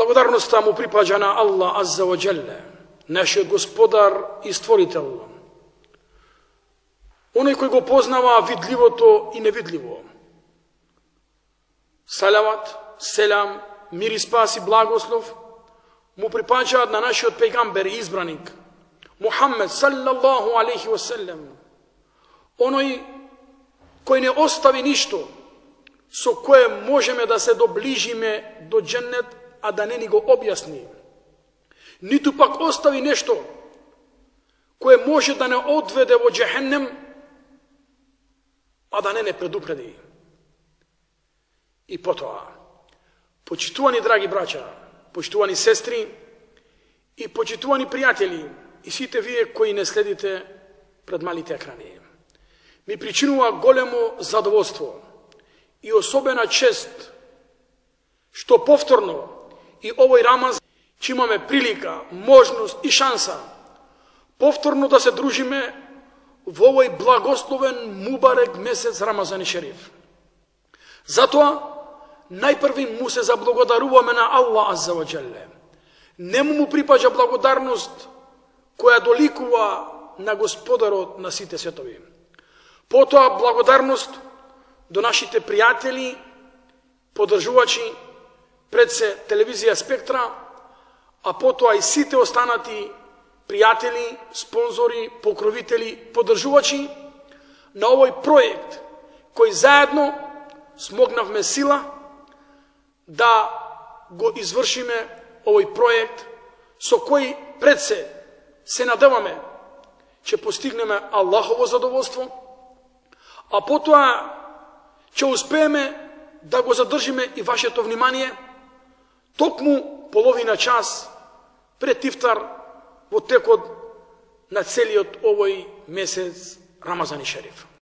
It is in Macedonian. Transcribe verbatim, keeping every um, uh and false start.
Благодарноста му припаѓа на Аллах Азза ва Джелле, нашиот Господар и Створител, оној кој го познава видливото и невидливо. Салават, селам, мир и спас и благослов му припаѓаат на нашиот пејгамбер и избраник Мухаммед саллаллаху алейхи ва селем, оној кој не остави ништо со кое можеме да се доближиме до дженнет, а да не ни го објасни, ниту пак остави нешто кое може да не одведе во джехеннем, а да не не предупреди. И потоа, почитувани драги браќа, почитувани сестри и почитувани пријатели и сите вие кои не следите пред малите екрани, ми причинува големо задоволство и особена чест што повторно и овој Рамазан ќе имаме прилика, можност и шанса повторно да се дружиме во овој благословен мубарек месец Рамазан и Шериф. Затоа најпрви му се заблагодаруваме на Аллах Азза ва Джелле. Нему му припаѓа благодарност која доликува на Господарот на сите светови. Потоа благодарност до нашите пријатели, поддржувачи, пред се телевизија Спектра, а потоа и сите останати пријатели, спонзори, покровители, поддржувачи на овој проект кој заедно смогнавме сила да го извршиме овој проект со кој пред се се надеваме ќе постигнеме Аллахово задоволство, а потоа ќе успееме да го задржиме и вашето внимание токму половина час пред ифтар во текот на целиот овој месец Рамазан и Шериф.